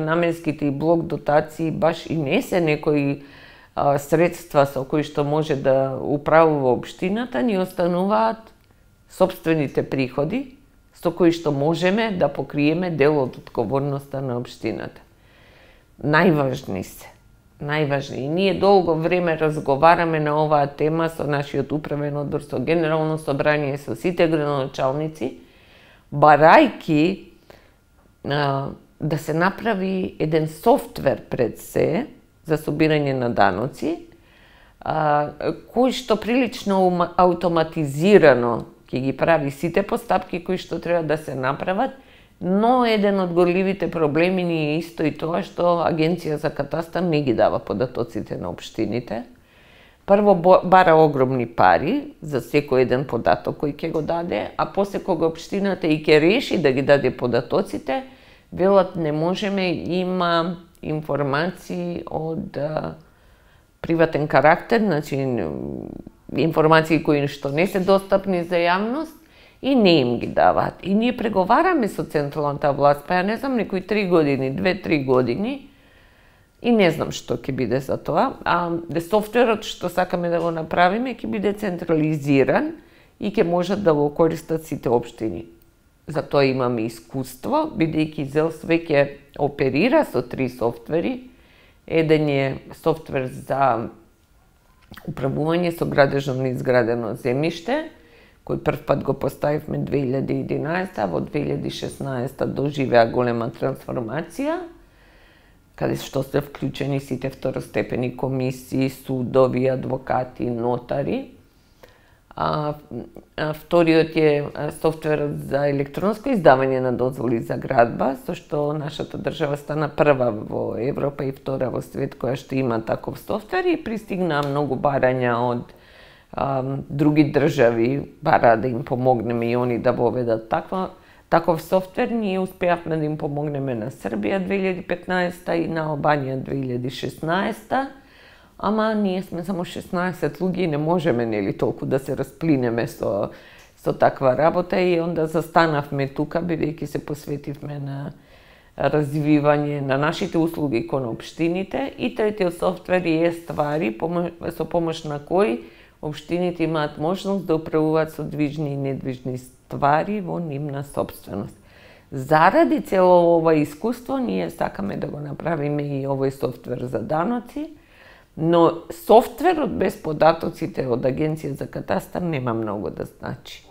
наменските и блок дотации баш и не се некои средства со кои што може да управува општината, ни остануваат сопствените приходи со кои што можеме да покриеме дел од одговорноста на општината. Најважни се. Најважни. И ние долго време разговараме на оваа тема со нашиот управен одбор, со Генерално собрание, со сите градоначалници, барајки да се направи еден софтвер пред се за собирање на даноци, кој што прилично автоматизирано ќе ги прави сите постапки кои што треба да се направат, но еден од горливите проблеми ни е исто и тоа што Агенција за катастар не ги дава податоците на општините. Прво бара огромни пари за секој еден податок кој ќе го даде, а после кога општината и ќе реши да ги даде податоците, велат не можеме, има информации од приватен карактер, значи информации кои што не се достапни за јавност и не им ги даваат. И ние преговараме со централната власт, па ја не знам, некои 3 години, 2-3 години, и не знам што ќе биде за тоа. Софтверот што сакаме да го направиме ќе биде централизиран и ќе можат да го користат сите општини. За тоа имаме искуство, бидејќи ЗЕЛС веќе оперира со 3 софтвери. Еден е софтвер за управување со градежно неизградено земјиште, кој прв пат го поставивме 2011, во 2016 доживеа голема трансформација, каде што се вклучени сите второстепени комисии, судови, адвокати, нотари. Вториот е софтверот за електронско издавање на дозволи за градба, со што нашата држава стана прва во Европа и втора во свет која што има таков софтвер, и пристигнаа многу барања од други држави, бараа да им помогнеме и они да воведат таков софтвер. Ние успеавме да им помогнеме на Србија 2015 и на Албанија 2016, ама ние сме само 16 луѓе и не можеме нели толку да се расплинеме со таква работа, и онда застанавме тука, бидејќи се посветивме на развивање на нашите услуги кон општините. И третиот софтвер е ствари, со помош на кој општините имаат можност да управуваат со движни и недвижни ствари во нивна собственост. Заради цело ова искуство, ние сакаме да го направиме и овој софтвер за даноци, но софтверот без податоците од Агенција за катастар нема многу да значи.